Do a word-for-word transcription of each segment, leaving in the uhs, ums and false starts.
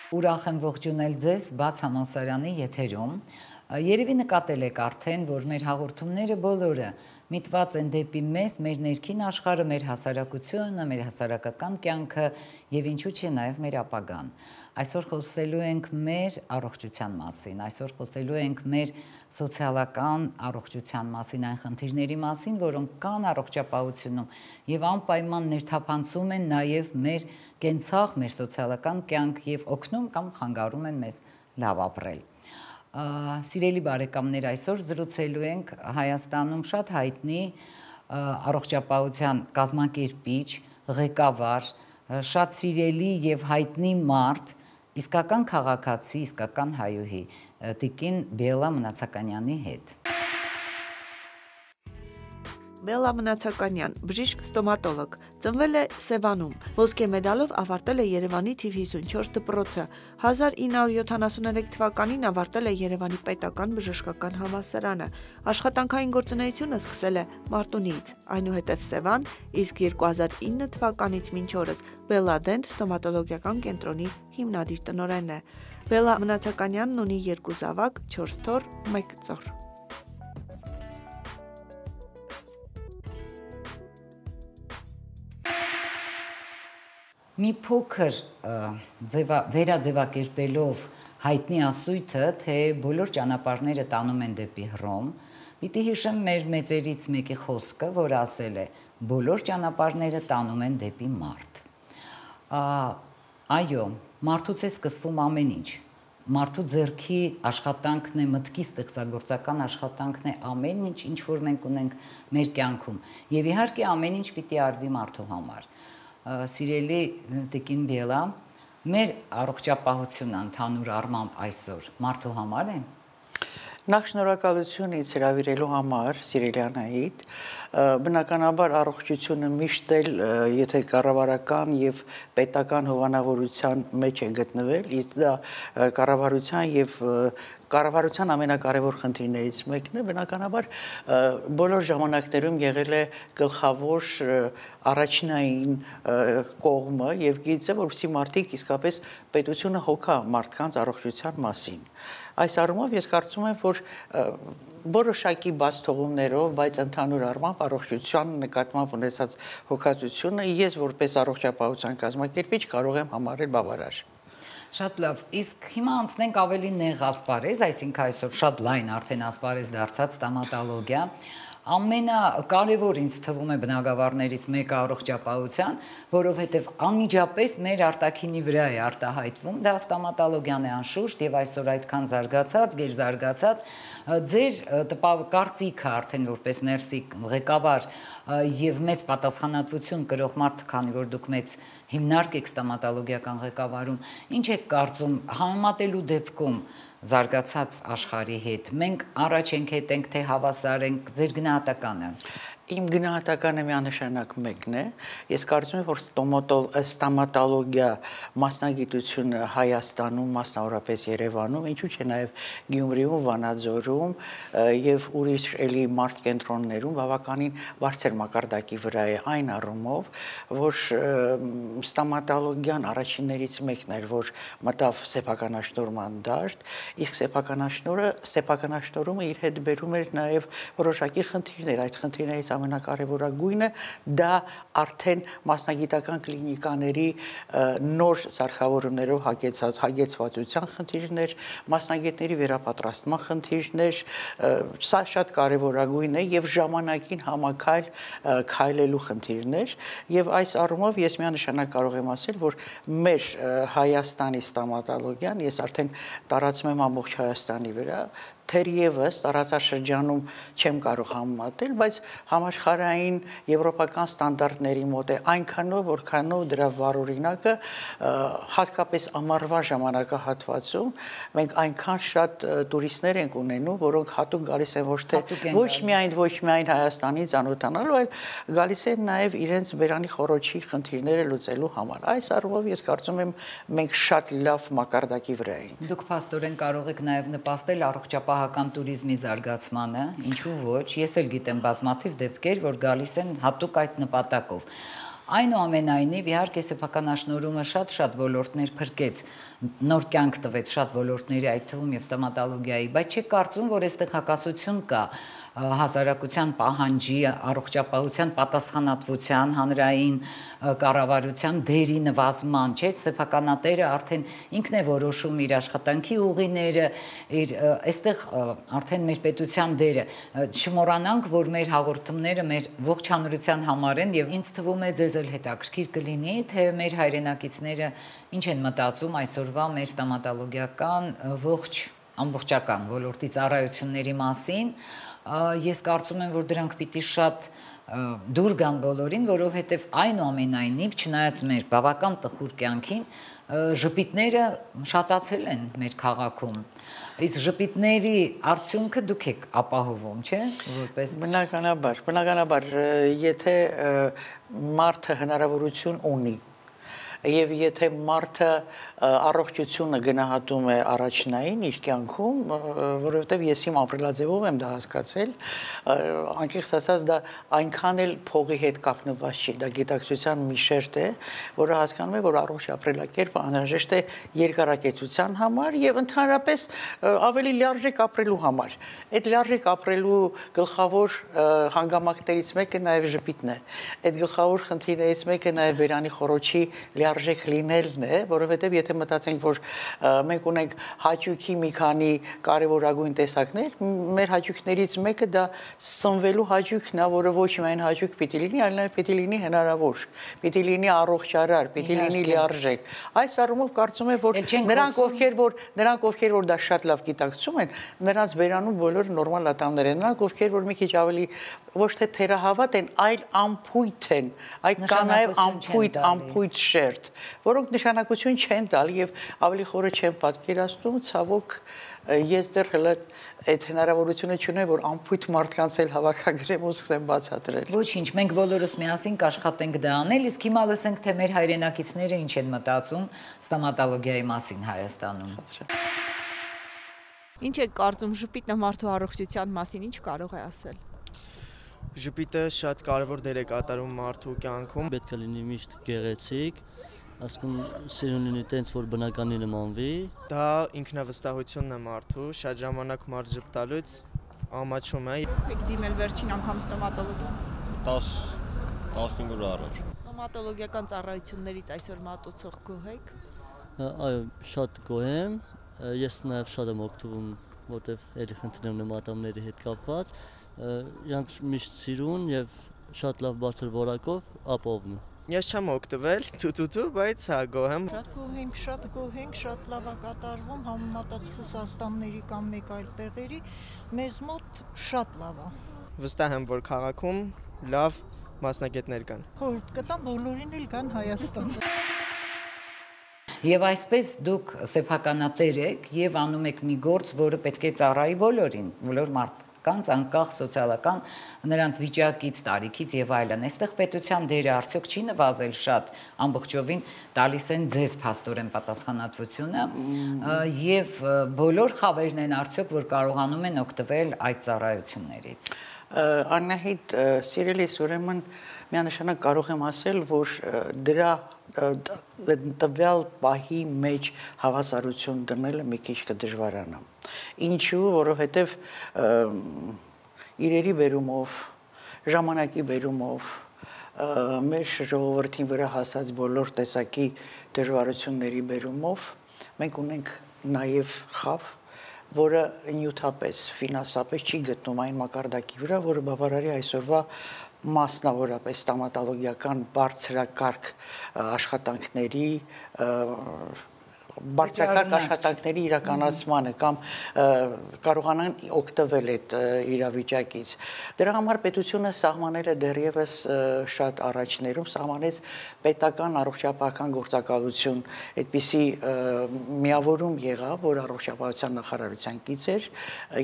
Ուրախ եմ ողջունել ձեզ բաց համալսարանի եթերում։ Երևի նկատել եք արդեն, որ մեր հաղորդումները բոլորը միտված են դեպի մեզ, մեր ներքին աշխարհը, մեր հասարակությունը, մեր հասարակական կյանքը եւ ինչու՞ չէ նաեւ մեր ապագան։ Այսօր խոսելու ենք մեր առողջության մասին, այսօր խոսելու ենք մեր սոցիալական առողջության մասին, այն խնդիրների մասին, որոնք կան առողջապահությունում եւ անպայման ներթափանցում են նաեւ մեր կենցաղ, մեր սոցիալական կյանք եւ օգնում կամ խանգարում են մեզ լավ ապրել։ Սիրելի բարեկամներ, այսօր զրուցելու ենք Հայաստանում շատ հայտնի առողջապահության կազմակերպիչ, ղեկավար, շատ սիրելի եւ հայտնի մարդ, իսկական քաղաքացի, իսկական հայուհի Տիկին Բելլա Մնացականյանի հետ։ Բելլա Մնացականյան, բժիշկ ստոմատոլոգ, ծնվել է Սևանում, ոսկե մեդալով ավարտել է Երևանի թիվ հիսունչորս դպրոցը, հազար ինը հարյուր յոթանասուներեք թվականին ավարտել է Երևանի պետական բժշկական համալսարանը, աշխատանքային գործունեությունը սկսել է Մարտունիից, այնուհետև Սևան, իսկ երկու հազար ինը թվականից մինչ օրս Բելլա Դենտ ստոմատոլոգիական կենտրոնի հիմնադիր տնօրենն է։ Բելլա Մնացականյանն ունի երկու զավակ, չորս թոռ, մեկ ծոր։ Մի փոքր վերաձևակերպելով հայտնի ասույթը, թե բոլոր ճանապարհները տանում են դեպի Հռոմ, պիտի հիշեմ մեր մեծերից մեկի խոսքը, որ ասել է. բոլոր ճանապարհները տանում են դեպի մարդ։ Այո, մարդուց է սկսվում ամեն ինչ։ Մարդու ձեռքի աշխատանքն է, մտքի ստեղծագործական աշխատանքն է ամեն ինչ, ինչ որ մենք ունենք մեր կյանքում։ Եվ իհարկե ամեն ինչ պիտի արվի մարդու համար։ Սիրելի Տիկին Բելլա, մեր առողջապահությունը ընդհանուր առմամբ այսօր մարդու համար է։ Նախ շնորհակալություն ինձ հրավիրելու համար, սիրելի Անահիտ, բնականաբար առողջությունը միշտ էլ, եթե կառավարական եւ պետական հովանավորության մեջ է գտնվել, իսկ դա կառավարության եւ կառավարության ամենակարևոր խնդիրներից մեկն է, բնականաբար բոլոր ժամանակներում եղել է գլխավոր առաջնային կողմը եւ գիծը, որովհետեւ մարդիկ իսկապես պետությունը հոգա մարդկանց առողջության մասին։ Այս առումով ես կարծում եմ, որ որոշակի բաց թողումներով, բայց ընդհանուր առմամբ առողջության նկատմամբ ունեցած հոգացությունը ես որպես առողջապահության կազմակերպիչ կարող եմ համարել բավարար։ Շատ լավ, իսկ հիմա անցնենք ավելի նեղ ասպարեզ, այսինքն այսօր շատ լայն արդեն ասպարեզ դարձած ստոմատոլոգիա, ամենակարևոր ինձ թվում է բնագավառներից մեկը առողջապահության, որովհետև անմիջապես մեր արտաքինի վրա է արտահայտվում, դա ստոմատոլոգիան է անշուշտ եւ այսօր այդքան զարգացած, գերզարգացած, ձեր կարծիքը արդեն որպես ներսի ղեկավար եւ մեծ պատասխանատվություն կրող մարդ, քանի որ դուք մեծ հիմնարկ եք ստոմատոլոգիական ղեկավարում, ինչ եք կարծում համեմատելու դեպքում զարգացած աշխարհի հետ, մենք առաջ ենք հետենք, թե հավասար ենք, ձեր գնահատականը։ Իմ գնահատականը միանշանակ մեկն է, ես կարծում եմ, որ ստոմատոլոգիա մասնագիտությունը Հայաստանում, մասնավորապես Երևանում, ինչու՞ չէ նաև Գյումրիում, Վանաձորում եւ ուրիշ էլի մարդ կենտրոններում բավականին բարձր մակարդակի վրա է այն առումով, որ ստոմատոլոգիան առաջիններից մեկն էր, որ մտավ սեփականաշնորհման դաշտ, իսկ սեփականաշնորհը, սեփականաշնորհումը իր հետ բերում էր նաև որոշակի խնդիրներ, այդ խնդիրներից ամենակարևորագույնը դա արդեն մասնագիտական կլինիկաների նոր սարքավորումներով հագեցած հագեցվածության խնդիրներ, մասնագետների վերապատրաստման խնդիրներ, սա շատ կարևորագույն է եւ ժամանակին համակայլ քայլելու խնդիրներ եւ այս առումով ես միանշանակ կարող եմ ասել, որ մեր Հայաստանի ստոմատոլոգիան ես արդեն տարածում եմ ամբողջ Հայաստանի վրա թերևս տարածաշրջանում չեմ կարող համեմատել, բայց համաշխարհային եվրոպական ստանդարտների մոտ է այնքանով, որքանով դրա վառօրինակը հատկապես ամառվա ժամանակահատվածում մենք այնքան շատ տուրիստներ ենք ունենում, որոնք հատուկ գալիս են ոչ թե ոչ միայն ոչ միայն Հայաստանից ծանոթանալու, այլ գալիս են նաև իրենց բերանի խոռոչի խնդիրները լուծելու համար։ Այս առումով ես կարծում եմ մենք շատ լավ մակարդակի վրա ենք։ Դուք փաստորեն կարող եք նաև նպաստել առողջապահական туриզմի զարգացմանը, ինչու ոչ, ես էլ գիտեմ բազմաթիվ դեպքեր, որ գալիս են հատուկ այդ նպատակով։ Այնուամենայնիվ, իհարկե սեփական աշնորհումը շատ-շատ ոլորտներ փրկեց, նոր կյանք տվեց շատ ոլորտների, այդ թվում եւ ստոմատոլոգիայի, բայց չի կարծում, որ այստեղ հակասություն կա հասարակության պահանջի, առողջապահության պատասխանատվության, հանրային կառավարության դերի նվազման, չէ՞, սեփականատերը արդեն ինքն է որոշում իր աշխատանքի ուղիները, իր այստեղ արդեն մեր պետության դերը, չմոռանանք, որ մեր հաղորդումները մեր ողջ հանրության համար են եւ ինձ թվում է ձեզ էլ հետաքրքիր կլինի, թե մեր հայրենակիցները ինչ են մտածում այսօրվա մեր ստոմատոլոգիական ողջ ամբողջական ոլորտի ծառայությունների մասին։ Ես կարծում եմ, որ դրանք պիտի շատ դուր գան բոլորին, որովհետև այնուամենայնիվ, չնայած մեր բավական տխուր կյանքին, ժպիտները շատացել են մեր քաղաքում։ Իսկ ժպիտների արդյունքը դուք եք ապահովում, չէ՞, որպես բնականաբար, բնականաբար, եթե մարդը հնարավորություն ունի եւ եթե մարդը առողջությունը գնահատում է առաջնային իր կյանքում, որովհետեւ ես իմ ապրելաձևով եմ դա հասկացել, անկեղծ ասած դա այնքան էլ փողի հետ կապնված չի, դա գիտակցության մի շերտ է, որը հասկանում է, որ առողջ ապրելակերպը անհրաժեշտ է երկարակեցության համար եւ ընդհանրապես ավելի լիարժեք ապրելու համար։ Այդ լիարժեք ապրելու գլխավոր հանգամանքներից մեկը նաեւ ժպիտն է։ Այդ գլխավոր խնդիրներից մեկը նաեւ բերանի խորոչի լիարժեք լինելն է, որովհետև եթե մտածենք, որ մենք ունենք հաճույքի մի քանի կարևորագույն տեսակներ, մեր հաճույքներից մեկը դա սնվելու հաճույքն է, որը ոչ միայն հաճույք պիտի լինի, այլ նաև պիտի լինի հնարավոր, պիտի լինի առողջարար, պիտի լինի լիարժեք։ Այս առումով կարծում եմ, որ նրանք ովքեր որ նրանք ովքեր որ դա շատ լավ գիտակցում են, նրանց բերանում բոլորը նորմալ ատամներ են, նրանք ովքեր որ մի քիչ ավելի ոչ թե թերահավատ են, այլ ամփույթ են, այդ կա նաև ամփույթ, ամփույթ շերտ, որոնք նշանակություն չեն տալ եւ ավելի խորը չեն պատկերացնում, ցավոք ես դեռ հələ այդ հնարավորությունը չունեմ, որ ամփույթ մարդկանց էլ հավաքագրեմ ու սկսեմ բացատրել։ Ոչինչ, մենք բոլորս միասին կաշխատենք դա անել, իսկ հիմա լսենք, թե մեր հայրենակիցները ինչ են մտածում ստոմատոլոգիայի մասին Հայաստանում։ Ինչ եք կարծում ժպիտը մարդու առողջության մասին, ինչ կարող է ասել։ Ժպիտը շատ կարևոր դեր է կատարում մարդու կյանքում։ Պետք է լինի միշտ գեղեցիկ, ասում սիրուն լինի տենց, որ բնականի նմանվի։ Դա ինքնավստահությունն է մարդու, շատ ժամանակ մարդ ժպտալուց ամաչում է։ Եք դիմել վերջին անգամ ստոմատոլոգի։ տասը տասնհինգ օր առաջ։ Ստոմատոլոգիական ծառայություններից այսօր մատուցող գոհ եք։ Այո, շատ գոհ եմ։ Ես նաև շատ եմ օգտվում, որտեղ ելի խնդրեմ նման ատամների հետ կապված։ Իրանք միշտ սիրուն եւ շատ լավ բարձր որակով ապահովում են։ Ես չեմ օգտվել, ցուցուցու, բայց հա գոհ եմ։ Շատ գոհ ենք, շատ գոհ ենք, շատ լավ է կատարվում համեմատած Ռուսաստանների կամ մեկ այլ տեղերի, մեզ մոտ շատ լավ է։ Վստահ եմ, որ քաղաքում լավ մասնագետներ կան։ Խորհուրդ կտամ բոլորին էլ գան Հայաստան։ Եվ այսպես դուք սեփականատեր եք եւ անում եք մի գործ, որը պետք է ծառայի բոլորին, բոլոր մարդկանց, անկախ սոցիալական նրանց վիճակից, տարիքից եւ այլն։ Այստեղ պետության դերը արդյոք չի նվազել շատ, ամբողջովին տալիս են ձեզ փաստորեն պատասխանատվությունը եւ բոլոր խավերն են արդյոք, որ կարողանում են օգտվել այդ ծառայություններից։ Անահիտ, սիրելիս, ուրեմն միանշանակ կարող եմ ասել, որ դրա տվյալ պահի մեջ հավասարություն դնելը մի քիչ կդժվարանա։ Ինչու, որովհետև իրերի բերումով, ժամանակի բերումով, մեր ժողովրդին վրա հասած բոլոր տեսակի դժվարությունների բերումով մենք ունենք նաև խավ, որը նյութապես, ֆինանսապես չի գտնում այն մակարդակի վրա, որը բավարարի այսօրվա մասնավորապես ստոմատոլոգիական բարձրակարգ աշխատանքների բարձրակարգ աշխատանքների իրականացմանը կամ կարողանան օգտվել այդ իրավիճակից։ Դրա համար պետությունը սահմանել է դեռևս շատ առաջներում, սահմանեց պետական առողջապահական գործակալություն, այդպիսի միավորում եղավ, որ առողջապահության նախարարության կից էր,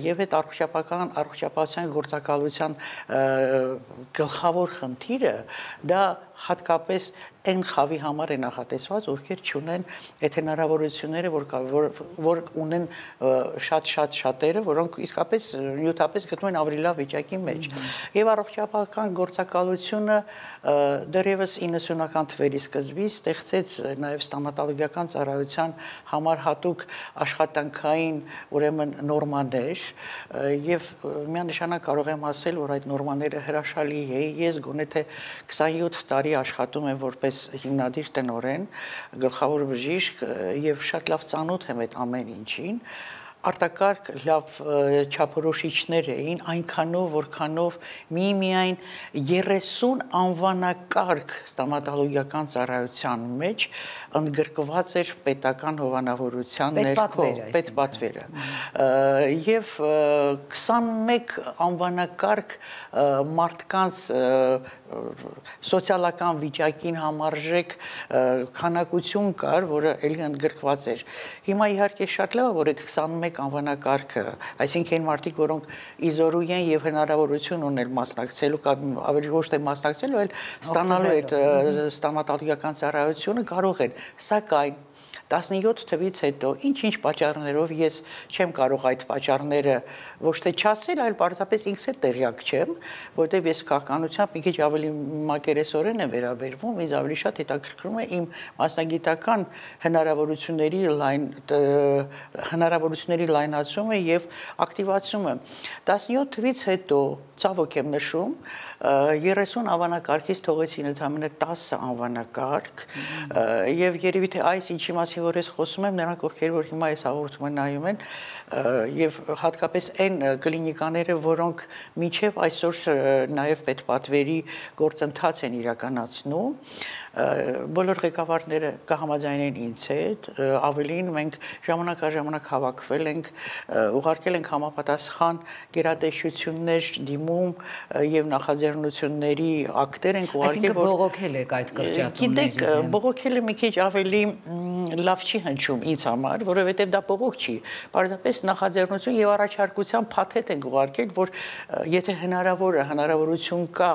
եւ այդ առողջապահական առողջապահության գործակալության գլխավոր խնդիրը դա հատկապես այն խավի համար է նախատեսված, ովքեր չունեն այդ հնարավորությունները, որ որ, որ ունեն շատ-շատ շատերը, որոնք իսկապես նյութապես գտնվում են ավելի լավ վիճակի մեջ։ Եվ առողջապահական գործակալությունը դեռևս իննսունական թվերի սկզբից ստեղծեց նաև ստոմատոլոգիական ծառայության համար հատուկ աշխատանքային ուրեմն նորմաներ, եւ միանշանակ կարող եմ ասել, որ այդ նորմաները հրաշալի է։ Ես գոնե թե քսանյոթ տարի աշխատում եմ որպես հիմնադիր տնօրեն, գլխավոր բժիշկ եւ շատ լավ ծանոթ եմ այդ ամեն ինչին։ Արտակարգ լավ չափորոշիչներ էին, այնքանով, որքանով մի-միայն երեսուն անվանակարգ ստոմատոլոգիական ծառայության մեջ ընդգրկված էր պետական հովանավորության ներքո պետպատվերը եւ քսանմեկ անվանակարգ մարդկանց սոցիալական վիճակին համարժեք քանակություն կար, որը ելի ընդգրկված էր։ Հիմա իհարկե շատ լավ է, որ այդ քսանմեկ անվանակարգը, այսինքն այն մարդիկ, որոնք իզորու են եւ հնարավորություն ունեն մասնակցելու կամ ավելի ոչ թե մասնակցելու, այլ ստանալու այդ ստոմատոլոգիական ծառայությունը կարող են, սակայն տասնյոթ թվից հետո ինչ-ինչ պատճառներով ես չեմ կարող այդ պատճառները ոչ թե չասել, այլ պարզապես ինքս էլ տեղյակ չեմ, որտեղ ես քաղաքականությամբ մի քիչ ավելի մակերեսորեն եմ վերաբերվում, ինձ ավելի շատ հետաքրքրում է իմ մասնագիտական հնարավորությունների լայն հնարավորությունների լայնացումը եւ ակտիվացումը։ տասնյոթ թվից հետո ցավոք եմ նշում, երեսուն անվանակարգից թողեցին ընդամենը տասը անվանակարգ եւ երևի թե այս ինչի մասին որ ես խոսում եմ, նրանք ովքեր որ հիմա այս հաղորդումը նայում են եւ հատկապես այն կլինիկաները, որոնք մինչեւ այսօր նաեւ պետպատվերի գործընթաց են իրականացնում, բոլոր ղեկավարները կհամաձայնեն ինձ հետ, ավելին մենք ժամանակ առ ժամանակ հավաքվել ենք, ուղարկել ենք համապատասխան գերատեսչություններ դիմում եւ նախաձեռնությունների ակտեր ենք ուղարկել, որ բողոքել եք այդ կրճատումները։ Գիտեք, բողոքելը մի քիչ ավելի լավ չի հնչում ինձ համար, որովհետեւ դա բողոք չի, պարզապես նախաձեռնություն եւ առաջարկության փաթեթ ենք ուղարկել, որ եթե հնարավոր է, հնարավորություն կա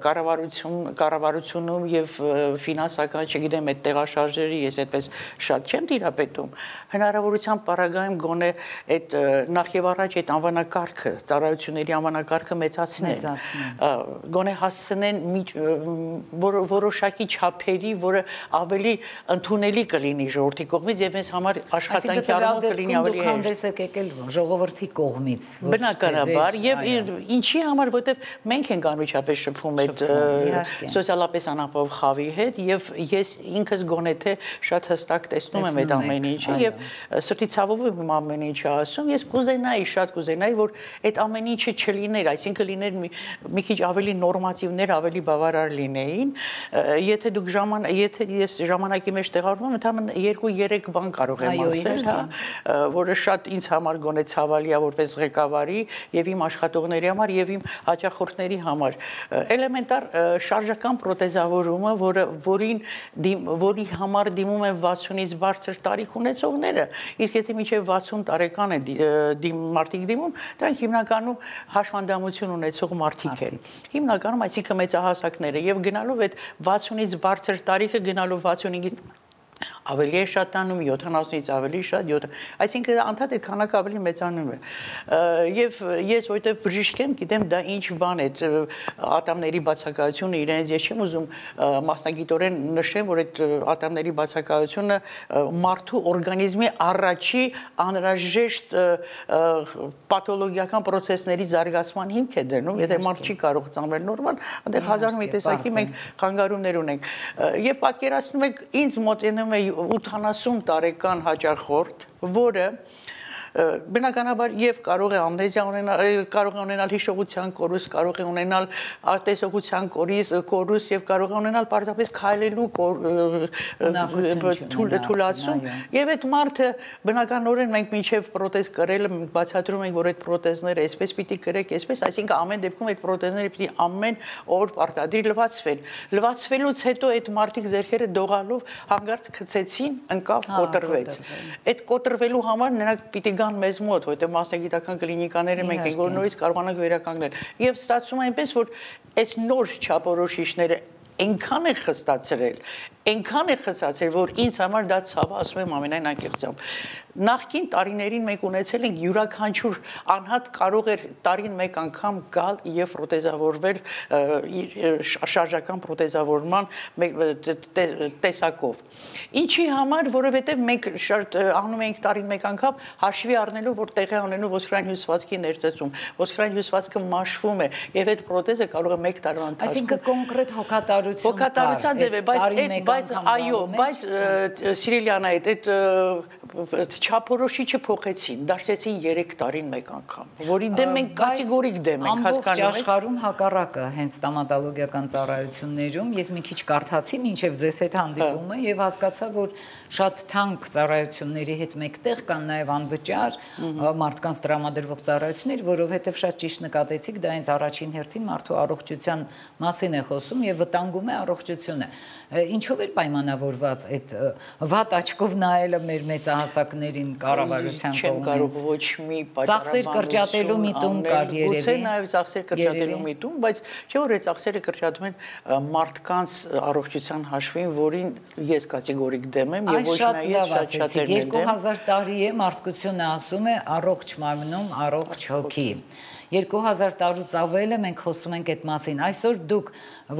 կառավարություն կառավարությունում եւ ֆինանսական, չգիտեմ, այդ տեղաշարժերի ես այդպես շատ չեմ տիրապետում, հնարավորության պարագայում գոնե այդ նախ եւ առաջ այդ անվանակարգը, ծառայությունների անվանակարգը մեծացնեն, գոնե հասցնեն որոշակի չափերի, որը ավելի ընդունելի կլինի ժողովրդի կողմից եւ մեզ համար աշխատանքի առումով կլինի ավելի հեշտ։ Հանդես եք եկել ժողովրդի կողմից, ոչ թե բնականաբար եւ ինչի համար, որտեւ մենք ենք անմիջապես շփվում այդ սոցիալապես անապահով խավի հետ եւ ես ինքս գոնե թե շատ հստակ տեսնում եմ այդ ամեն ինչը եւ սրտի ցավով եմ ամեն ինչը ասում, ես կուզենայի, շատ կուզենայի, որ այդ ամեն ինչը չլիներ, այսինքն լիներ մի քիչ ավելի նորմատիվներ, ավելի բավարար լինեին, եթե դուք ժամանակ, եթե ես ժամանակի մեջ տեղավորվում եմ, ընդհանրապես երկու-երեք բան կարող եմ ասել, հա, որը շատ ինձ համար գոնե ցավալի է որպես ղեկավարի եւ իմ աշխատողների համար եւ իմ հաճախորդների համար։ Էլեմենտար շարժական պրոթեզավորումը, որը որին որի համար դիմում են վաթսունից բարձր տարիք ունեցողները, իսկ եթե մինչև վաթսուն տարեկան է դիմ մարդիկ դիմում, դրանք հիմնականում հաշվանդամություն ունեցող մարդիկ են։ Հիմնականում այսինքն մեծահասակները եւ գնալով այդ վաթսունից բարձր տարիքը գնալով վաթսունից ավելի է շատանում, յոթանասունից ավելի շատ, այսինքն անդադ այդ քանակը ավելի մեծանում է։ Եվ ես որտեվ բժիշկ եմ, գիտեմ դա ինչ բան է, ատամների բացակայությունը իրենից ես չեմ ուզում մասնագիտորեն նշեմ, որ այդ ատամների բացակայությունը մարդու օրգանիզմի առաջի անհրաժեշտ պաթոլոգիական պրոցեսների զարգացման հիմք է դնում, եթե մարդ չի կարող ծնվել նորմալ, այնտեղ հազար մի տեսակի մենք խանգարումներ ունենք։ Եվ պատկերացնում եք ինձ մոտենում է ութանասուն տարեկան հաճախորդ, որը բնականաբար եւ կարող է ամնեզիա ունենալ, կարող է ունենալ հիշողության կորուստ, կարող է ունենալ արտեսողության կորուստ եւ կարող է ունենալ պարզապես քայլելու թուլացում եւ այդ մարդը բնականորեն մենք մինչեւ պրոթեզ կրելը բացատրում ենք, որ այդ պրոթեզները այսպես պիտի կրեք, այսպես, այսինքն ամեն դեպքում այդ պրոթեզները պիտի ամեն օր պարտադիր լվացվեն։ Լվացվելուց հետո այդ մարդիկ ձեռքերը դողալով հանգարց գցեցին, ընկավ, կոտրվեց։ Այդ կոտրվելու համար նրանք պիտի գան մեզ մոտ, որտեղ մասնագիտական կլինիկաները մենք ենք, որ նորից կարողանանք վերականգնել։ Եվ ստացվում է այնպես, որ այս նոր չափորոշիչները այնքան է խստացրել, այնքան է խստացրել, որ ինձ համար դա ցավը, ասում եմ ամենայն անկեղծությամբ։ Նախկին տարիներին մենք ունեցել ենք յուրաքանչյուր անհատ կարող էր տարին մեկ անգամ գալ եւ պրոթեզավորվել շարժական պրոթեզավորման տեսակով։ Ինչի համար, որովհետեւ մենք անում ենք տարին մեկ անգամ հաշվի առնելով, որ տեղի ունենու ոսկրային հյուսվածքի ներծծում, ոսկրային հյուսվածքը մաշվում է եւ այդ պրոթեզը կարող է մեկ տարվա ընթացքում։ Այսինքն կոնկրետ հոգատարություն։ Հոգատարության ձև է, բայց բայց այո, բայց Սիրիլյանա այդ չափորոշիչը փոխեցին, դարձեցին երեք տարին մեկ անգամ, որի դեմ մենք կատեգորիկ դեմ ենք, հասկանում եք։ Ամբողջ աշխարհում հակառակը հենց ստոմատոլոգիական ծառայություններում ես մի քիչ կարդացի մինչև ձեզ հետ հանդիպումը եւ հասկացա, որ շատ թանկ ծառայությունների հետ մեկտեղ կան նաեւ անվճար մարդկանց տրամադրվող ծառայություններ, որովհետեւ շատ ճիշտ նկատեցիք, դա հենց առաջին հերթին մարդու առողջության մասին է խոսում եւ վտանգում է առողջությունը։ Ինչով էր պայմանավորված այդ վատ աչքով նայելը մեր մեծահասակներին կառավարության կողմից։ Չեմ կարող ոչ մի ծախսեր կրճատելու միտում կար երևի։ Գուցե նաև ծախսեր կրճատելու միտում, բայց չէ որ այդ ծախսերը կրճատում են մարդկանց առողջության հաշվին, որին ես կատեգորիկ դեմ եմ եւ ոչ նաեւ շատ շատերն են դեմ։ երկու հազար տարի է մարդկությունը ասում է առողջ մարմնում առողջ հոգի։ երկու հազար տարուց ավել է մենք խոսում ենք այդ մասին։ Այսօր դուք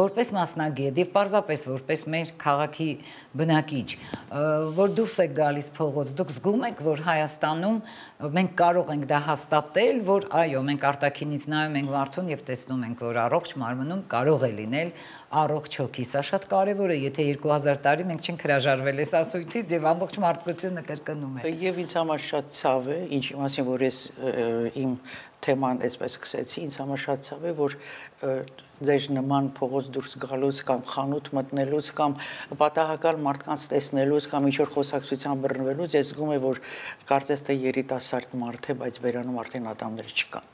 որպես մասնագետ եւ պարզապես որպես մեր քաղաքի բնակիչ, որ դուրս եք գալիս փողոց, դուք զգում եք, որ Հայաստանում մենք կարող ենք դա հաստատել, որ այո, մենք արտաքինից նայում ենք մարդուն եւ տեսնում ենք, որ առողջ մարմնում կարող է լինել առողջ հոգի։ Սա շատ կարևոր է, եթե երկու հազար տարի մենք չենք հրաժարվել այս ասույթից եւ ամբողջ մարդկությունը կրկնում է։ Եվ ինձ համար շատ ցավ է, ինչի մասին որ ես իմ թեման այսպես սկսեցի, ինձ համար շատ ցավ է, որ ձեր նման փողոց դուրս գալուց կամ խանութ մտնելուց կամ պատահական մարդկանց տեսնելուց կամ ինչ-որ խոսակցության բռնվելուց ես զգում եմ, որ կարծես թե երիտասարդ մարդ է, բայց բերանում արդեն ատամներ չկան։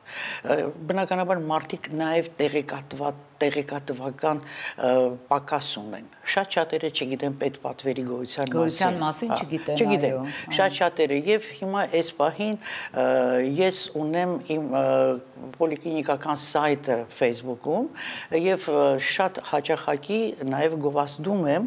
Բնականաբար մարդիկ նաև տեղեկատված տեղեկատվական պակաս ունեն։ Շատ շատերը չգիտեն պետպատվերի գոյության մասին։ Գոյության մասին չգիտեն, այո։ Շատ շատերը եւ հիմա այս պահին ես ունեմ իմ պոլիկլինիկական սայթը Facebook-ում եւ շատ հաճախակի նաեւ գովազդում եմ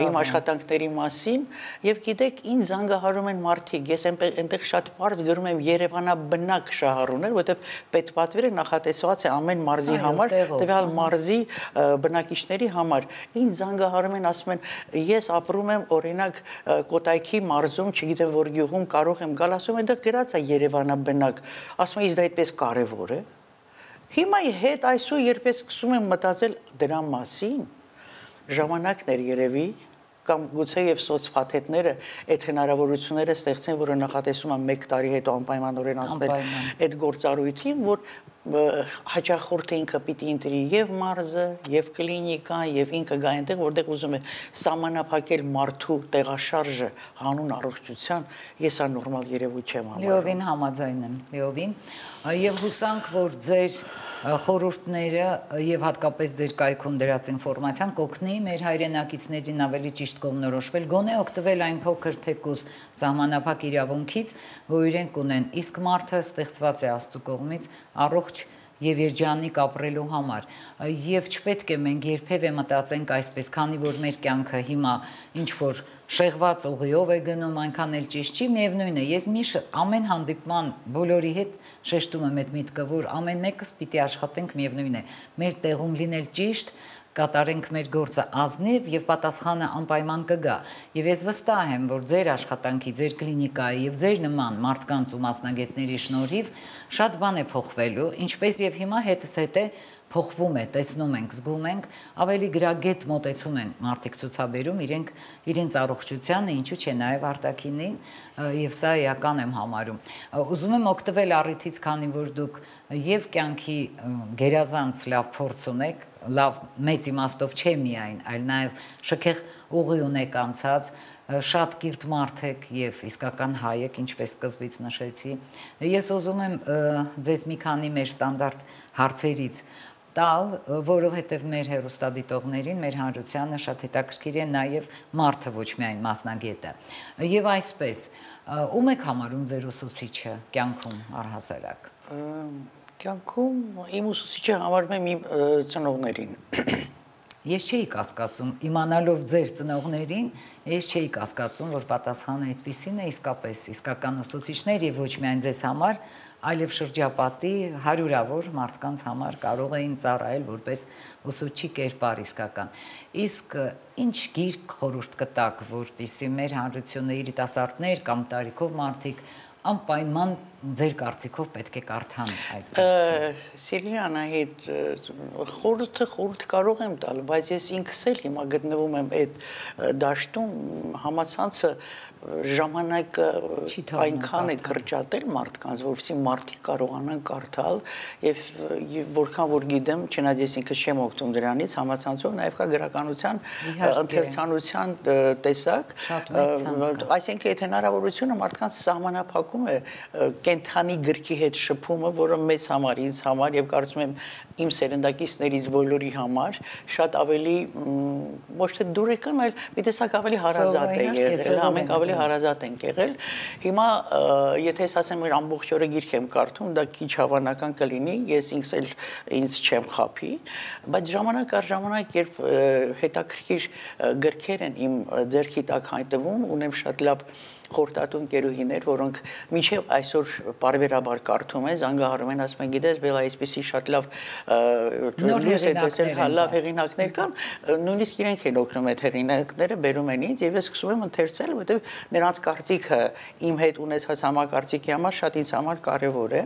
իմ աշխատանքների մասին եւ գիտեք ինձ զանգահարում են մարդիկ ես այնտեղ շատ բարձ գրում եմ Երևանաբնակ շահառուներ որովհետեւ պետպատվերը նախատեսված է ամեն մարզի համար տվյալ մարզի բնակիչների համար ինձ զանգահարում են ասում են ես ապրում եմ օրինակ Կոտայքի մարզում չգիտեմ որ գյուղում կարող եմ գալ ասում այնտեղ գրած է Երևանաբնակ ասում են դա այդպես կարեւոր է Հիմա հետ այսօր երբ ես սկսում եմ մտածել դրա մասին, ժամանակներ երևի կամ գուցե եւ սոցփաթեթները այդ հնարավորությունները ստեղծեն, որը նախատեսում են մեկ տարի հետո անպայմանորեն անցնել այդ գործառույթին, որ հաճախորդը ինքը պիտի ընտրի եւ մարզը, եւ կլինիկան, եւ ինքը գա այնտեղ, որտեղ ուզում է սահմանափակել մարդու տեղաշարժը հանուն առողջության, ես ա նորմալ երևույթ չեմ համարում։ Լիովին համաձայն եմ, լիովին, եւ հուսանք, որ ձեր խորհուրդները եւ հատկապես ձեր կայքում դրած ինֆորմացիան կօգնի մեր հայրենակիցներին ավելի ճիշտ կողմնորոշվել, գոնե օգտվել այն փոքր թեկուզ սահմանափակ իրավունքից, որ իրենք ունեն, իսկ մարդը ստեղծված է Աստծո կողմից առողջ եւ երջանիկ ապրելու համար եւ չպետք է մենք երբևէ մտածենք այսպես, քանի որ մեր կյանքը հիմա ինչ որ շեղված ուղիով է գնում, այնքան էլ ճիշտ չի, միևնույն է, ես միշտ ամեն հանդիպման բոլորի հետ շեշտում եմ այդ միտքը, որ ամեն մեկս պիտի աշխատենք միևնույն է, մեր տեղում լինել ճիշտ կատարենք մեր գործը ազնիվ եւ պատասխանը անպայման կգա եւ ես վստահ եմ որ ձեր աշխատանքի ձեր կլինիկայի եւ ձեր նման մարդկանց ու մասնագետների շնորհիվ շատ բան է փոխվելու ինչպես եւ հիմա հետս հետե փոխվում է տեսնում ենք զգում ենք ավելի գրագետ մոտեցում են մարդիկ ցուցաբերում իրենք իրենց առողջությանը ինչու՞ չէ նաեւ արտաքինին եւ սա էական եմ համարում ուզում եմ օգտվել առիթից քանի որ դուք եւ կյանքի գերազանց լավ փորձ ունեք լավ մեծ իմաստով չէ միայն, այլ նաև շքեղ ուղի ունեք անցած, շատ կիրթ մարդ եք եւ իսկական հայ եք, ինչպես սկզբից նշեցի։ Ես ուզում եմ ձեզ մի քանի մեր ստանդարտ հարցերից տալ, որովհետև մեր հեռուստադիտողներին, մեր հանրությանը շատ հետաքրքիր է նաև մարդը, ոչ միայն մասնագետը։ Եվ այսպես, ում եք համարում ձեր ուսուցիչը կյանքում առհասարակ։ Կյանքում իմ ուսուցիչը համարում եմ իմ ծնողներին։ Ես չէի կասկածում, իմանալով ձեր ծնողներին, ես չէի կասկածում, որ պատասխանը այդպիսին է, իսկապես իսկական ուսուցիչներ եւ ոչ միայն ձեզ համար, այլև շրջապատի հարյուրավոր մարդկանց համար կարող էին ծառայել որպես ուսուցչի կերպար իսկական։ Իսկ ինչ գիրք խորհուրդ կտաք, որպեսզի մեր հանրությունը երիտասարդներ կամ տարիքով մարդիկ անպայման ձեր կարծիքով պետք է կարդան այս գիրքը։ Սիրելի Անահիտ, խորհուրդը խորհուրդ կարող եմ տալ, բայց ես ինքս էլ հիմա գտնվում եմ այդ դաշտում, համացանցը ժամանակը այնքան է կրճատել մարդկանց, որովհետեւ մարդիկ կարողանան կարդալ եւ որքան որ գիտեմ, չնայած ես ինքս չեմ օգտվում դրանից, համացանցով նաեւ կա գրականության ընթերցանության տեսակ, այսինքն այդ հնարավորությունը մարդկանց սահմանափակում է կենթանի գրքի հետ շփումը, որը մեզ համար, ինձ համար եւ կարծում եմ իմ սերնդակիցներից բոլորի համար շատ ավելի ոչ թե դուրեկան, այլ մի տեսակ ավելի հարազատ է եղել, ամենք ավելի հարազատ ենք եղել։ Հիմա եթե ես ասեմ որ ամբողջ օրը գիրք եմ կարդում, դա քիչ հավանական կլինի, ես ինքս էլ ինձ չեմ խափի, բայց ժամանակ առ ժամանակ երբ հետաքրքիր գրքեր են իմ ձեռքի տակ հայտնվում, ունեմ շատ լավ խորտատու ընկերուհիներ, որոնք մինչև այսօր բարբերաբար կարդում են, զանգահարում են, ասում են, գիտես, բելա այսպեսի շատ լավ լույս է տեսել, լավ հեղինակներ կան, նույնիսկ իրենք են օգնում այդ հեղինակները, բերում են ինձ, եւ ես սկսում եմ ընթերցել, որովհետեւ նրանց կարծիքը իմ հետ ունեցած համակարծիքի համար շատ ինձ համար կարեւոր է։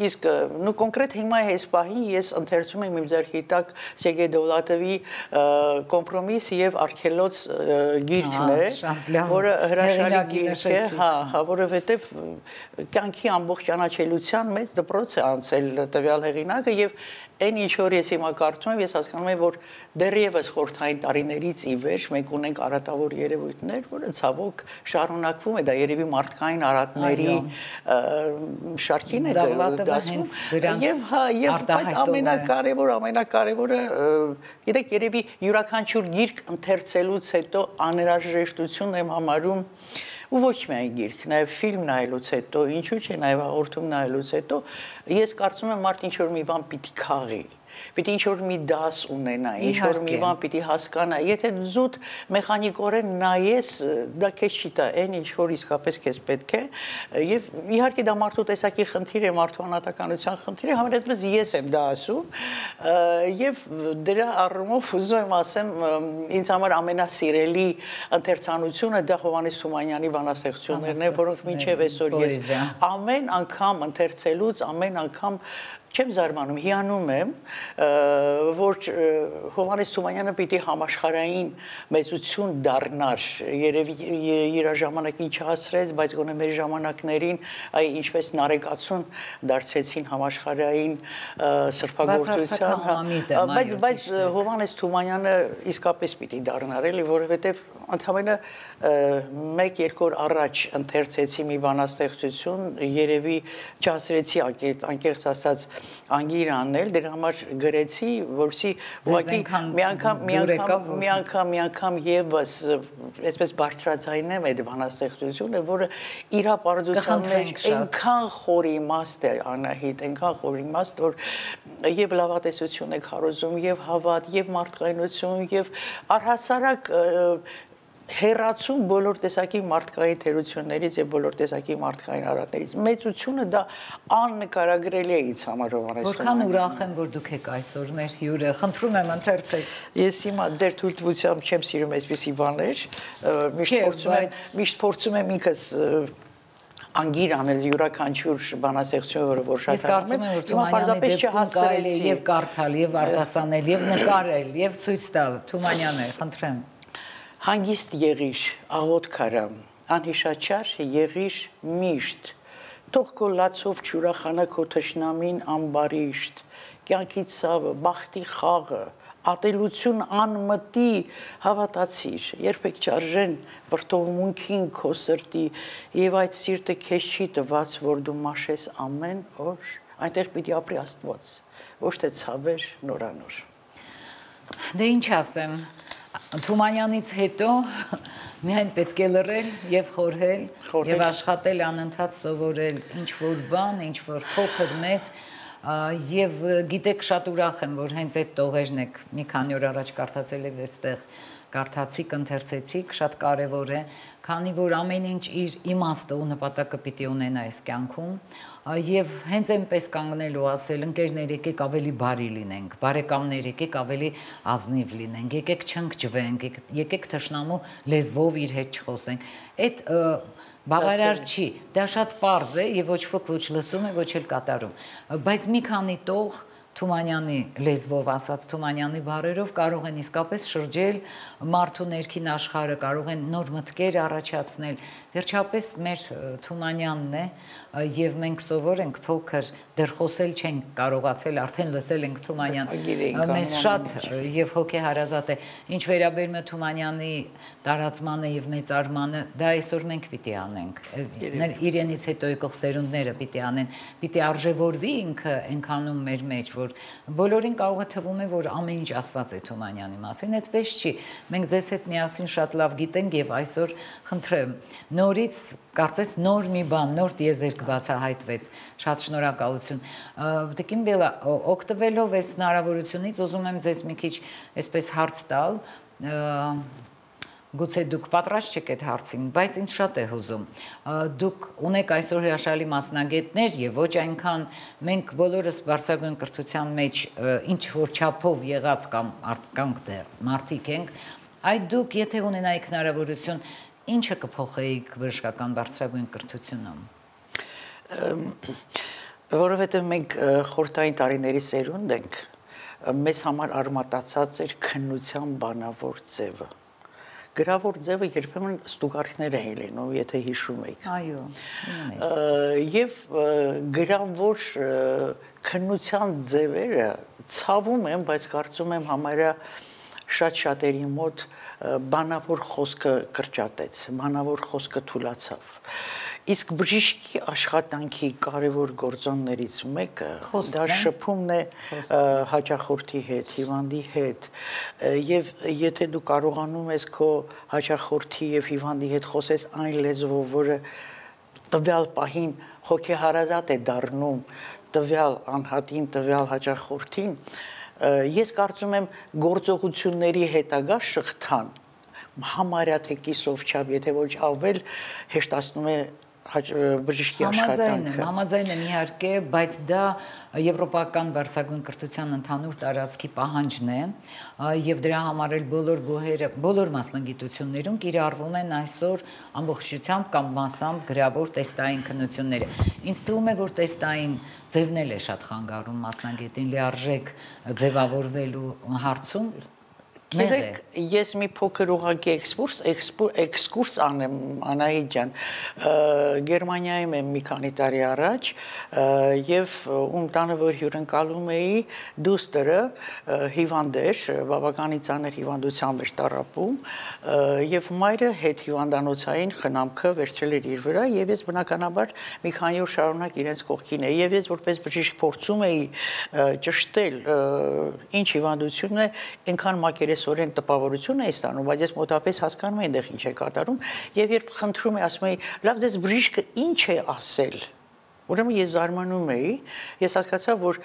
Իսկ նու կոնկրետ հիմա այս պահին ես ընթերցում եմ իմ ձեռքի տակ Սերգեյ Դովլատովի Կոմպրոմիս եւ Արքելոց գիրքն է, որը հրաշալի գիրք է, հա, հա, որովհետեւ կյանքի ամբողջ ճանաչելիության մեջ դպրոց է անցել տվյալ հեղինակը եւ այն ինչ որ ես հիմա կարծում եմ, ես հասկանում եմ, որ դեռևս խորհրդային տարիներից ի վեր մենք ունենք արատավոր երևույթներ, որը ցավոք շարունակվում է, դա երևի մարդկային արատների շարքին է դասում։ Եվ հա, եւ ամենակարևոր, ամենակարևորը, գիտեք, երևի յուրաքանչյուր գիրք ընթերցելուց հետո անհրաժեշտություն եմ համարում ու ոչ միայն գիրք, նաև ֆիլմ նայելուց հետո, ինչու՞ չէ, նաև հաղորդում նայելուց հետո, ես կարծում եմ մարդ ինչ որ մի բան պիտի քաղի, պիտի ինչ որ մի դաս ունենա, ինչ որ մի բան պիտի հասկանա, եթե զուտ մեխանիկորեն նայես, դա քեզ չի տա, այն ինչ որ իսկապես քեզ պետք է, եւ իհարկե դա մարդու տեսակի խնդիր է, մարդու անհատականության խնդիր է, համենայնպես ես եմ դա ասում, եւ դրա առումով ուզում եմ ասեմ, ինձ համար ամենասիրելի ընթերցանությունը դա Հովհաննես Թումանյանի բանաստեղծություններն են, որոնք մինչեւ այսօր ես ամեն անգամ ընթերցելուց, ամեն անգամ չեմ զարմանում, հիանում եմ, որ Հովհաննես Թումանյանը պիտի համաշխարհային մեծություն դառնար, երևի իր ժամանակին չհասրեց, բայց գոնե մեր ժամանակներին, այ ինչպես նարեկացուն դարձեցին համաշխարհային սրբագործության, բայց բայց Հովհաննես Թումանյանը իսկապես պիտի դառնար, էլի, որովհետև ընդհանրապես մեկ-երկու օր առաջ ընթերցեցի մի բանաստեղծություն, երևի չհասրեցի անկեղծ ասած անգիր անել, դրա համար գրեցի, որպեսզի ուղղակի մի անգամ, մի անգամ, մի անգամ, մի անգամ եւս այսպես բարձրաձայնեմ այդ բանաստեղծությունը, որը իր ապարդության մեջ այնքան խոր իմաստ է, Անահիտ, այնքան խոր իմաստ, որ եւ լավատեսություն է քարոզում, եւ հավատ, եւ մարդկայնություն, եւ առհասարակ հերացում բոլոր տեսակի մարդկային թերություններից եւ բոլոր տեսակի մարդկային արատներից մեծությունը դա աննկարագրելի է ինձ համար Հովհաննես Որքան ուրախ եմ որ դուք եք այսօր մեր հյուրը խնդրում եմ ընթերցեք ես հիմա ձեր թույլտվությամբ չեմ սիրում այսպիսի բաներ միշտ փորձում եմ միշտ փորձում եմ ինքս անգիր անել յուրաքանչյուր բանաստեղծություն, որը որ շատ կարծում եմ, որ Թումանյանի դեպքում կարելի է եւ կարդալ, եւ արտասանել, եւ նկարել, եւ ցույց տալ։ Թումանյանը, խնդրեմ։ Հանգիստ եղիր, աղոտ քարամ, անհիշաչար եղիր միշտ, թող քո լացով չուրախանա քո թշնամին ամբարիշտ, կյանքի ցավը, բախտի խաղը, ատելություն անմտի հավատացիր, երբեք չարժեն վրդովմունքին քո սրտի, եւ այդ սիրտը քեզ չի տված, որ դու մաշես ամեն օր, այնտեղ պիտի ապրի Աստված, ոչ թե ցավեր նորանոր։ Դե ինչ ասեմ, Թումանյանից հետո միայն պետք է լռել եւ խորհել եւ աշխատել անընդհատ սովորել ինչ որ բան, ինչ որ փոքր մեծ Եվ գիտեք, շատ ուրախ եմ, որ հենց այդ տողերն եք մի քանի օր առաջ կարդացել եք այստեղ, կարդացիք, ընթերցեցիք, շատ կարևոր է, քանի որ ամեն ինչ իր իմաստը ու նպատակը պիտի ունենա այս կյանքում, եւ հենց այնպես կանգնել ու ասել, ընկերներ, եկեք ավելի բարի լինենք, բարեկամներ, եկեք ավելի ազնիվ լինենք, եկեք չընկճվենք, եկեք թշնամու լեզվով իր հետ չխոսենք։ Այդ բավարար չի, դա շատ պարզ է եւ ոչ ոք ոչ լսում է, ոչ էլ կատարում, բայց մի քանի տող Թումանյանի լեզվով ասած Թումանյանի բառերով կարող են իսկապես շրջել մարդու ներքին աշխարհը, կարող են նոր մտքեր առաջացնել, վերջապես մեր Թումանյանն է եւ մենք սովոր ենք փոքր դեռ խոսել չենք կարողացել, արդեն լսել ենք Թումանյան, մեզ շատ եւ հոգեհարազատ է, ինչ վերաբերում է Թումանյանի տարածմանը եւ մեծարմանը, դա այսօր մենք պիտի անենք, իրենից հետո եկող սերունդները պիտի անեն, պիտի արժևորվի ինքը այնքանում մեր մեջ, որ բոլորին կարող է թվում է, որ ամեն ինչ ասված է Թումանյանի մասին, այդպես չի, մենք ձեզ հետ միասին շատ լավ գիտենք եւ այսօր խնդրեմ, նորից կարծես նոր մի բան, նոր տիեզերք բացահայտվեց, շատ շնորհակալություն, Տիկին Բելա, օգտվելով այս հնարավորությունից ուզում եմ ձեզ մի քիչ այսպես հարց տալ, գուցե դուք պատրաստ չեք այդ հարցին, բայց ինձ շատ է հուզում, դուք ունեք այսօր հրաշալի մասնագետներ եւ ոչ այնքան մենք բոլորս բարձրագույն կրթության մեջ ինչ որ չափով եղած կամ կանք դեռ մարդիկ ենք, այդ դուք եթե ունենայիք հնարավորություն, ինչը կփոխեիք բժշկական բարձրագույն կրթությունում։ Որովհետեւ մենք խորհրդային տարիների սերունդ ենք, մեզ համար արմատացած էր քննության բանավոր ձևը։ Գրավոր ձևը երբեմն ստուգարքներ էին լինում, եթե հիշում եք։ Այո։ Եվ գրավոր քննության ձևերը ցավում են, բայց կարծում եմ համարյա շատ շատերի մոտ բանավոր խոսքը կրճատեց, բանավոր խոսքը թուլացավ։ Իսկ բժիշկի աշխատանքի կարևոր գործոններից մեկը դա շփումն է հաճախորդի հետ, հիվանդի հետ, եւ եթե դու կարողանում ես քո հաճախորդի եւ հիվանդի հետ խոսես այն լեզվով, որը տվյալ պահին հոգեհարազատ է դառնում տվյալ անհատին, տվյալ հաճախորդին, ես կարծում եմ գործողությունների հետագա շղթան համարյա թե կիսով չափ, եթե ոչ ավել հեշտացնում է բժշկի աշխատանքը։ Համաձայն եմ իհարկե, բայց դա եվրոպական բարձրագույն կրթության ընդհանուր տարածքի պահանջն է եւ դրա համար էլ բոլոր բուհերը, բոլոր մասնագիտություններում կիրառվում են այսօր ամբողջությամբ կամ մասամբ գրավոր տեստային քննությունները։ Ինձ թվում է, որ տեստային ձևն էլ է շատ խանգարում մասնագետին լիարժեք ձևավորվելու հարցում։ Գիտեք, ես մի փոքր ուղղակի էքսկուրս, էքսկուրս անեմ, Անահիտ ջան, Գերմանիայում եմ մի քանի տարի առաջ եւ ում տանը որ հյուրընկալում էի, դուստերը հիվանդ էր, բավականին ծանր հիվանդությամբ էր տառապում եւ մայրը հետ հիվանդանոցային խնամքը վերցրել էր իր վրա եւ ես բնականաբար մի քանի օր շարունակ իրենց կողքին էի եւ ես որպես բժիշկ փորձում էի ճշտել ինչ հիվանդությունն է, այնքան մակերեսորեն տպավորություն է ստանում, բայց ես մոտապես հասկանում եմ այնտեղ ինչ է կատարում եւ երբ խնդրում եմ ասում եմ լավ դες բժիշկը ինչ է ասել Ուրեմն ես զարմանում էի, ես հասկացա, որ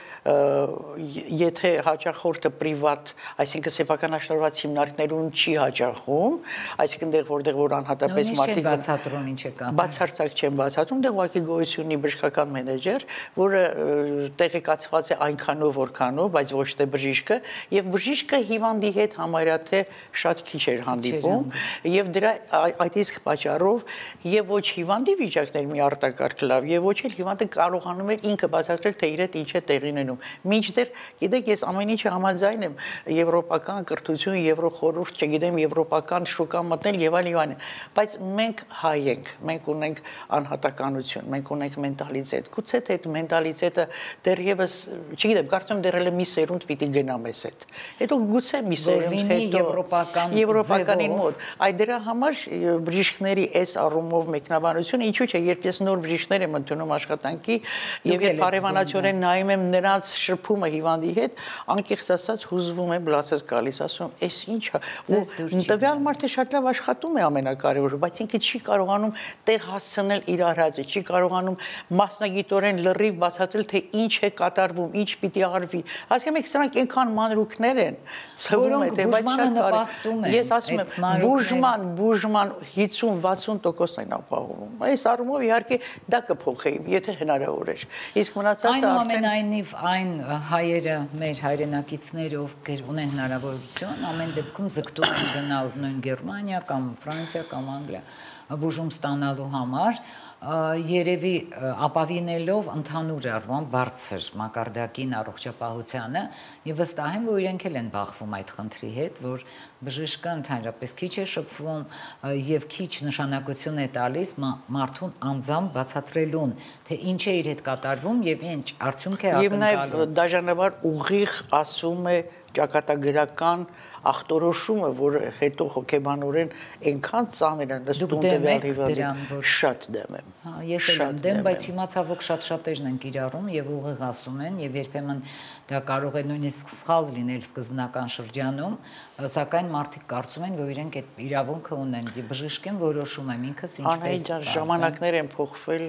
եթե հաճախորդը պրիվատ, այսինքն սեփականաշնորհված հիմնարկներուն չի հաճախում, այսինքն դեղ որտեղ որ անհատապես մարդիկ բացատրում ինչ է կա։ Բացարձակ չեն բացատրում, դեղ ուղղակի գոյություն ունի բժշկական մենեջեր, որը տեղեկացված է այնքանով որքանով, բայց ոչ թե բժիշկը, եւ բժիշկը հիվանդի հետ համարյա թե շատ քիչ էր հանդիպում, եւ դրա այդ իսկ պատճառով եւ ոչ հիվանդի վիճակներ մի արտակարգ լավ, եւ ոչ էլ Անդ կարողանում էր ինքը բացատրել թե իր հետ ինչ է տեղի ունենում։ Մինչդեռ, գիտեք, ես ամեն ինչը համաձայն եմ եվրոպական կրթություն, եվրոխորհուրդ, չգիտեմ, եվրոպական շուկա մտնել եւ այլն եւ այլն, բայց մենք հայ ենք, մենք ունենք անհատականություն, մենք ունենք մենտալիտետ։ Գուցե թե այդ մենտալիտետը դեռևս, չգիտեմ, կարծում եմ դեռ էլ մի սերունդ պիտի գնա մեզ հետ։ Հետո գուցե մի սերունդ հետո եվրոպական եվրոպականին մոտ։ Այդ դրա համար բժիշկների այս առումով մեկնաբանությունը ինչու՞ չէ, երբ ես նոր բժիշկներ եմ ընդունում աշխատանքի եւ երբ հարևանացիորեն նայում եմ նրանց շփումը հիվանդի հետ, անկեղծ ասած հուզվում եմ, լացած գալիս, ասում եմ, «Էս ի՞նչ է»։ Ու տվյալ մարդը շատ լավ աշխատում է ամենակարևորը, բայց ինքը չի կարողանում տեղ հասցնել իր արածը, չի կարողանում մասնագիտորեն լրիվ բացատրել, թե ինչ է կատարվում, ինչ պիտի արվի։ Հասկանում եք, սրանք այնքան մանրուքներ են, ցվում է, թե բայց շատ ես ասում եմ, բուժման, բուժման հիսուն վաթսուն տոկոսն են ապահովում։ Այս առումով իհարկե դա կփոխեի, եթե հնարավոր էր։ Իսկ մնացածը արդեն այնուամենայնիվ այն հայերը, մեր հայրենակիցները, ովքեր ունեն հնարավորություն, ամեն դեպքում ձգտում են գնալ նույն Գերմանիա կամ Ֆրանսիա կամ Անգլիա բուժում ստանալու համար, երևի ապավինելով ընդհանուր առմամբ բարձր մակարդակին առողջապահությանը եւ վստահ եմ, որ իրենք էլ են բախվում այդ խնդրի հետ, որ բժիշկը ընդհանրապես քիչ է շփվում եւ քիչ նշանակություն է տալիս մարդուն անձամբ բացատրելուն, թե ինչ է իր հետ կատարվում եւ ինչ արդյունք է ակնկալում։ Եվ նաեւ դաժանաբար ուղիղ ասում է ճակատագրական ախտորոշումը, որ հետո հոգեբանորեն այնքան ծանր է նստում տվյալ հիվանդի, շատ դեմ եմ։ Ես էլ եմ դեմ, բայց հիմա ցավոք շատ-շատերն են կիրառում եւ ուղիղ ասում են եւ երբեմն դա կարող է նույնիսկ սխալ լինել սկզբնական շրջանում, սակայն մարդիկ կարծում են, որ իրենք այդ իրավունքը ունեն եւ բժիշկեն որոշում եմ ինքս ինչպես։ Անհայտ ժամանակներ են փոխվել,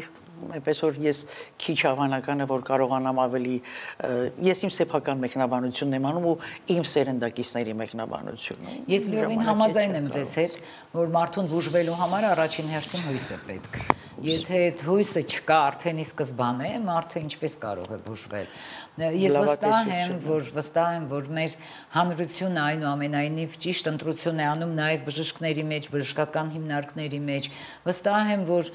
այնպես որ ես քիչ հավանական է, որ կարողանամ ավելի ես իմ սեփական մեկնաբանությունն եմ անում ու իմ սերնդակիցների մեկնաբանությունը։ Ես լիովին համաձայն եմ ձեզ հետ, որ մարդուն բուժվելու համար առաջին հերթին հույս է պետք։ Եթե այդ հույսը չկա արդեն ի սկզբանե, մարդը ինչպես կարող է բուժվել։ Ես վստահ եմ, որ վստահ եմ, որ մեր հանրությունը այնուամենայնիվ ճիշտ ընտրություն է անում նաև բժիշկների մեջ, բժշկական հիմնարկների մեջ։ Վստահ եմ, որ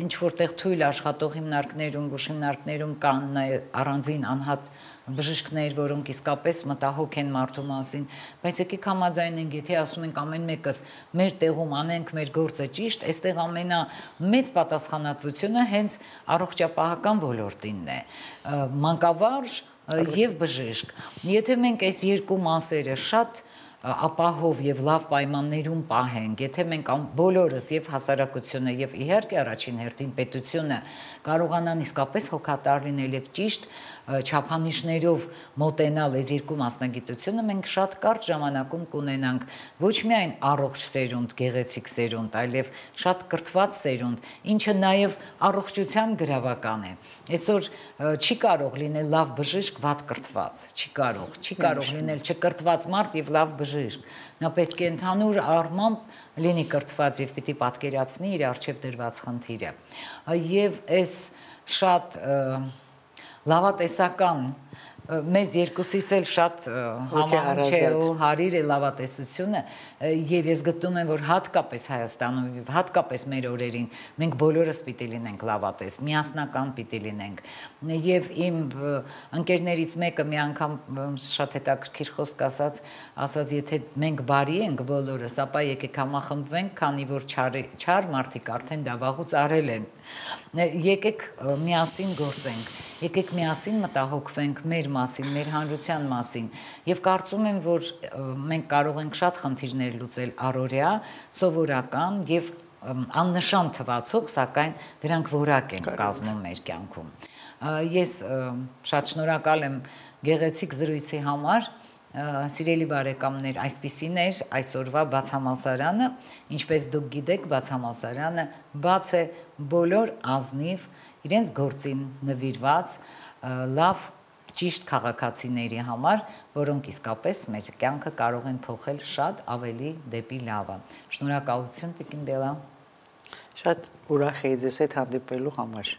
ինչ որտեղ թույլ աշխատող հիմնարկներում, բուժ հիմնարկներում կան նաև առանձին անհատ բժիշկներ, որոնք իսկապես մտահոգ են մարդու մասին, բայց եկեք համաձայնենք, եթե ասում ենք ամեն մեկս մեր տեղում անենք մեր գործը ճիշտ, այստեղ ամենամեծ պատասխանատվությունը հենց առողջապահական ոլորտինն է, մանկավարժ եւ բժիշկ։ Եթե մենք այս երկու մասերը շատ ապահով եւ լավ պայմաններում պահենք, եթե մենք բոլորս եւ հասարակությունը եւ իհարկե առաջին հերթին պետությունը կարողանան իսկապես հոգատար լինել եւ ճիշտ չափանիշներով մոտենալ այս երկու մասնագիտությունը, մենք շատ կարճ ժամանակում կունենանք ոչ միայն առողջ սերունդ, գեղեցիկ սերունդ, այլև շատ կրթված սերունդ, ինչը նաեւ առողջության գրավական է։ Այսօր չի կարող լինել լավ բժիշկ վատ կրթված, չի կարող, չի կարող լինել չկրթված մարդ եւ լավ բժիշկ։ Նա պետք է ընդհանուր առմամբ լինի կրթված եւ պիտի պատկերացնի իր առջեւ դրված խնդիրը։ Եվ այս շատ լավատեսական մեզ երկուսիս էլ շատ համահունչ է ու հարիր է լավատեսությունը եւ ես գտնում եմ, որ հատկապես Հայաստանում եւ հատկապես մեր օրերին մենք բոլորս պիտի լինենք լավատես, միասնական պիտի լինենք եւ իմ ընկերներից մեկը մի անգամ շատ հետաքրքիր խոսք ասաց, ասաց եթե մենք բարի ենք բոլորս, ապա եկեք համախմբվենք, քանի որ չար մարդիկ արդեն դա վաղուց արել են։ Եկեք միասին գործենք, եկեք միասին մտահոգվենք մեր մասին, մեր հանրության մասին եւ կարծում եմ, որ մենք կարող ենք շատ խնդիրներ լուծել առօրյա, սովորական եւ աննշան թվացող, սակայն դրանք որակ են կազմում մեր կյանքում։ Ես շատ շնորհակալ եմ գեղեցիկ զրույցի համար։ Սիրելի բարեկամներ, այսպիսին էր այսօրվա բացահամալսարանը, ինչպես դուք գիտեք, բացահամալսարանը բաց է բոլոր ազնիվ իրենց գործին նվիրված լավ ճիշտ քաղաքացիների համար, որոնք իսկապես մեր կյանքը կարող են փոխել շատ ավելի դեպի լավը։ Շնորհակալություն Տիկին Բելա։ Շատ ուրախ եի ձեզ հետ հանդիպելու համար։